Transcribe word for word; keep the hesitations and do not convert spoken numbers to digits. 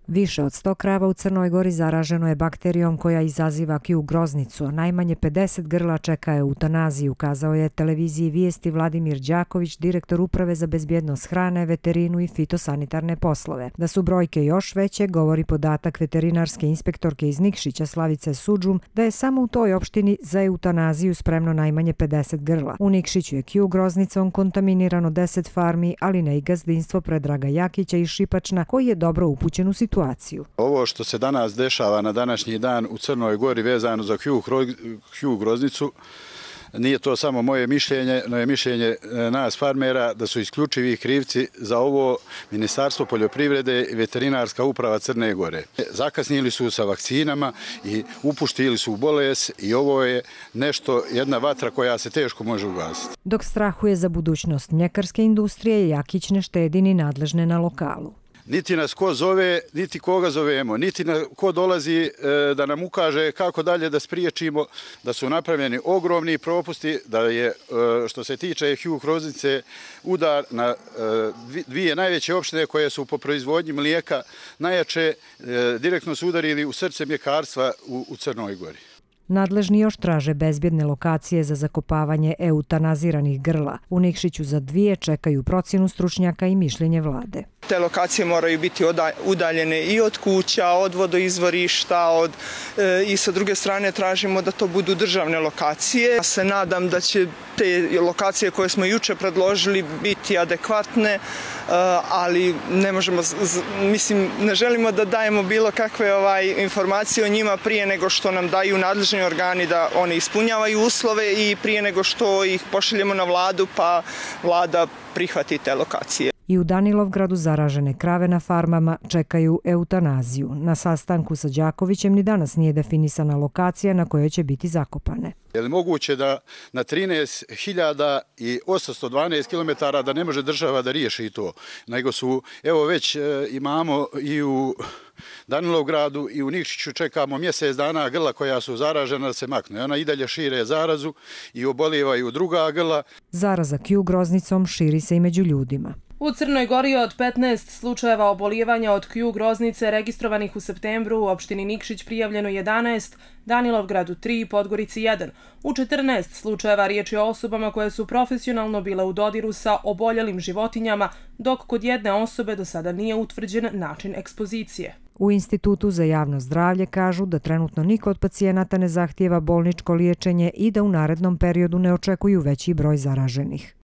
Više od sto krava u Crnoj Gori zaraženo je bakterijom koja izaziva Q groznicu, a najmanje pedeset grla čeka eutanaziju, kazao je televiziji Vijesti Vladimir Đaković, direktor Uprave za bezbjednost hrane, veterinu i fitosanitarne poslove. Da su brojke još veće, govori podatak veterinarske inspektorke iz Nikšića Slavice Sudžum, da je samo u toj opštini za eutanaziju spremno najmanje pedeset grla. U Nikšiću je Q groznicom kontaminirano deset farmi, ali ne i gazdinstvo Predraga Jakića iz Šipačna, koji je dobro upućen u situaciju. Ovo što se danas dešava na današnji dan u Crnoj Gori vezano za Q groznicu, nije to samo moje mišljenje, no je mišljenje nas farmera da su isključivi krivci za ovo Ministarstvo poljoprivrede i Veterinarska uprava Crne Gore. Zakasnili su sa vakcinama i upuštili su u bolest i ovo je nešto, jedna vatra koja se teško može ugasiti. Dok strahuje za budućnost mljekarske industrije, Jakić ne štedi ni nadležne na lokalu. Niti nas ko zove, niti koga zovemo, niti ko dolazi da nam ukaže kako dalje da spriječimo, da su napravljeni ogromni propusti, da je što se tiče Q groznice udar na dvije najveće opštine koje su po proizvodnji mlijeka najjače, direktno su udarili u srce mljekarstva u Crnoj Gori. Nadležni još traže bezbjedne lokacije za zakopavanje eutanaziranih grla. U Nikšiću za dvije čekaju procjenu stručnjaka i mišljenje vlade. Te lokacije moraju biti udaljene i od kuća, od vodoizvorišta, od, e, i sa druge strane tražimo da to budu državne lokacije. Ja se nadam da će te lokacije koje smo juče predložili biti adekvatne, e, ali ne možemo, mislim, ne želimo da dajemo bilo kakve ovaj, informacije o njima prije nego što nam daju nadležni organi da oni ispunjavaju uslove i prije nego što ih pošaljemo na vladu pa vlada prihvati te lokacije. I u Danilovgradu zaražene krave na farmama čekaju eutanaziju. Na sastanku sa Đakovićem ni danas nije definisana lokacija na kojoj će biti zakopane. Je li moguće da na trinaest hiljada osamsto dvanaest kilometara da ne može država da riješi to, nego su, evo već imamo i u Danilovgradu i u Nikšiću čekamo mjesec dana grla koja su zaražena da se makne. Ona i dalje šire zarazu i obolijevaju druga grla. Zaraza Q groznicom širi se i među ljudima. U Crnoj Gori od petnaest slučajeva obolijevanja od Q groznice registrovanih u septembru u opštini Nikšić prijavljeno jedanaest, Danilovgradu tri, Podgorici jedan. U četrnaest slučajeva riječ je o osobama koje su profesionalno bile u dodiru sa oboljelim životinjama, dok kod jedne osobe do sada nije utvrđen način ekspozicije. U Institutu za javno zdravlje kažu da trenutno niko od pacijenata ne zahtijeva bolničko liječenje i da u narednom periodu ne očekuju veći broj zaraženih.